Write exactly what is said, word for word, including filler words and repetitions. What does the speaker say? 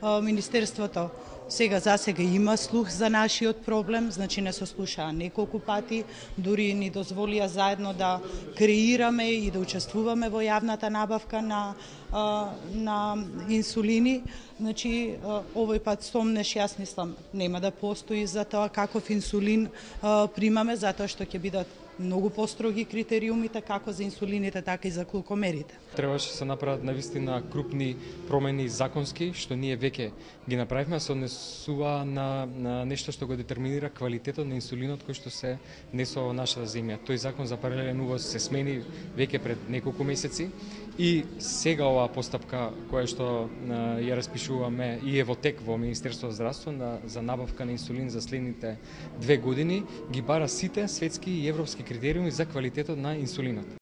Министерството сега за сега има слух за нашиот проблем, значи не се слушаа неколку пати, дури ни дозволија заедно да креираме и да учествуваме во јавната набавка на на инсулини. Значи овој пат сомнеш јас мислам нема да постои за тоа каков инсулин примаме, затоа што ќе бидат многу построги критериумите како за инсулините, така и за глукомерите. Требаше се направат навистина крупни промени законски, што ние веќе ги направивме, се однесува на, на нешто што го детерминира квалитетот на инсулинот кој што се несува во нашата земја. Тој закон за паралелен увоз се смени веќе пред неколку месеци и сега оваа постапка која што ја распишуваме и е во тек во Министерството за здравство на, за набавка на инсулин за следните две години ги бара сите светски и европски критериуми за квалитетот на инсулинот.